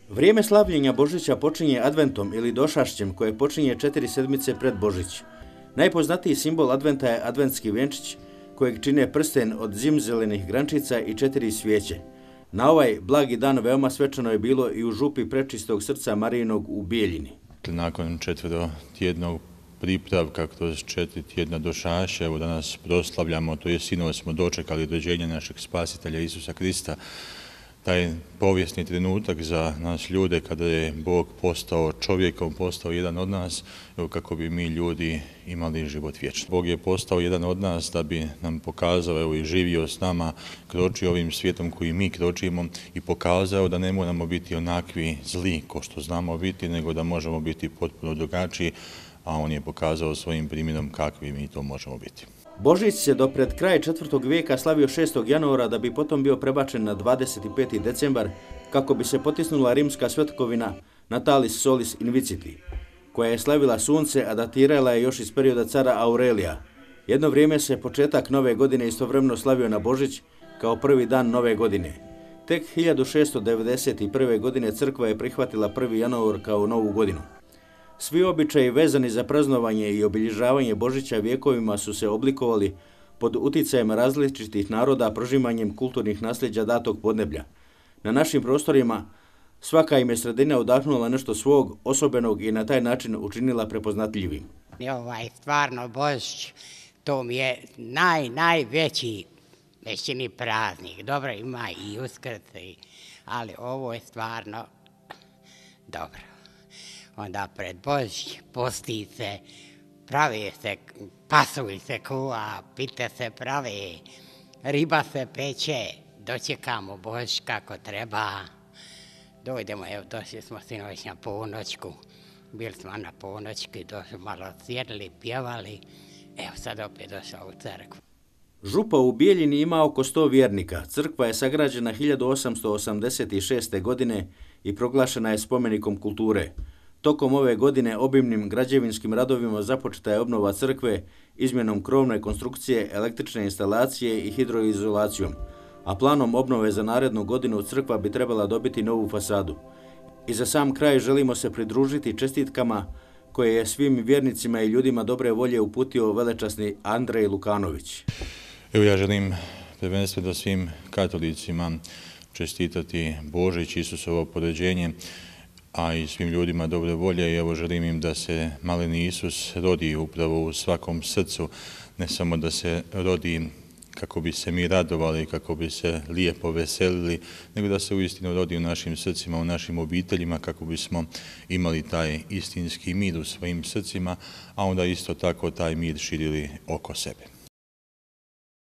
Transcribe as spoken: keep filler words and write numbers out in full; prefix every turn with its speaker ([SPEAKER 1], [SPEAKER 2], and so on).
[SPEAKER 1] Vrijeme slavljenja Božića počinje adventom ili došašćem koje počinje četiri sedmice pred Božić. Najpoznatiji simbol adventa je adventski venčić kojeg čine prsten od zimzelenih grančica i četiri svijeće. Na ovaj blagi dan veoma svečano je bilo i u župi Prečistog srca Marijinog u Bijeljini.
[SPEAKER 2] Nakon četvrotjednog pripravka kroz četiri tjedna došaša, evo danas proslavljamo, to je sinoć smo dočekali rođenje našeg spasitelja Isusa Krista. Taj povijesni trenutak za nas ljude kada je Bog postao čovjekom, postao jedan od nas, kako bi mi ljudi imali život vječni. Bog je postao jedan od nas da bi nam pokazao, evo i živio s nama, kročio ovim svijetom koji mi kročimo i pokazao da ne moramo biti onakvi zli ko što znamo biti, nego da možemo biti potpuno drugačiji, a on je pokazao svojim primjerom kakvi mi to možemo biti.
[SPEAKER 1] Božić se do pred kraj četvrtog vijeka slavio šestog januara da bi potom bio prebačen na dvadeset peti decembar kako bi se potisnula rimska svetkovina Natalis Solis Inviciti, koja je slavila sunce, a datirala je još iz perioda cara Aurelija. Jedno vrijeme se početak nove godine istovremeno slavio na Božić kao prvi dan nove godine. Tek hiljadu šeststo devedeset prve. godine crkva je prihvatila prvi januar kao novu godinu. Svi običaji vezani za praznovanje i obilježavanje Božića vjekovima su se oblikovali pod uticajem različitih naroda prožimanjem kulturnih nasljeđa datog podneblja. Na našim prostorima svaka im je sredina udahnula nešto svog osobenog i na taj način učinila prepoznatljivim.
[SPEAKER 3] Ovaj stvarno Božić, to mi je naj, najveći većini praznik. Dobro, ima i Uskrs, ali ovo je stvarno dobro. Onda pred Božić posti se, pravi se, pasulj se kuva, pite se pravi, riba se peče, dočekamo Božić kako treba. Dojdemo, evo došli smo sinoć na ponoćku, bili smo na ponoćku, došli malo sjedli, pjevali, evo sad opet došao u crkvu.
[SPEAKER 1] Župa u Bijeljini ima oko sto vjernika. Crkva je sagrađena hiljadu osamsto osamdeset šeste. godine i proglašena je spomenikom kulture. Tokom ove godine obimnim građevinskim radovima započeta je obnova crkve izmjenom krovne konstrukcije, električne instalacije i hidroizolacijom, a planom obnove za narednu godinu crkva bi trebala dobiti novu fasadu. I za sam kraj želimo se pridružiti čestitkama koje je svim vjernicima i ljudima dobre volje uputio velečasni Andrej Lukanović.
[SPEAKER 2] Evo ja želim prvenstveno svim katolicima čestitati Božić, Isusovo porođenje, a i svim ljudima dobre volje i evo želim im da se maleni Isus rodi upravo u svakom srcu, ne samo da se rodi kako bi se mi radovali, kako bi se lijepo veselili, nego da se uistinu rodi u našim srcima, u našim obiteljima, kako bismo imali taj istinski mir u svojim srcima, a onda isto tako taj mir širili oko sebe.